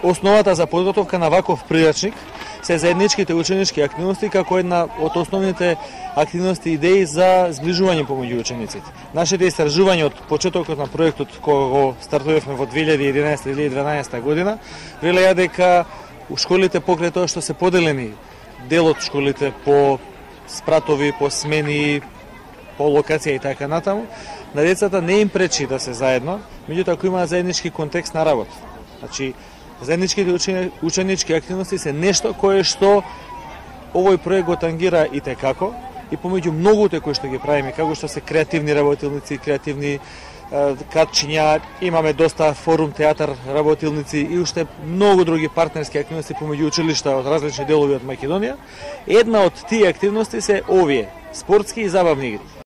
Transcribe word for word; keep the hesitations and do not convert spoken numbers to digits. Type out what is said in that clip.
Основата за подготовка на ваков прирачник се заедничките ученички активности како една од основните активности и идеи за зближување помеѓу учениците. Нашите истражувања од почетокот на проектот кога го стартувавме во две илјади и единаесета - две илјади и дванаесета година, велеа дека у школите покрај тоа што се поделени дел од школите по спратови, по смени, по локација и така натаму, на децата не им пречи да се заедно, меѓутоа ако имаат заеднички контекст на работа. Значи, заедничките ученички активности се нешто кое што овој проект го тангира и текако, и помеѓу многуте кои што ги правиме, како што се креативни работилници, креативни катчиња, имаме доста форум театар работилници и уште многу други партнерски активности помеѓу училишта од различни делови од Македонија. Една од тие активности се овие спортски и забавни игри.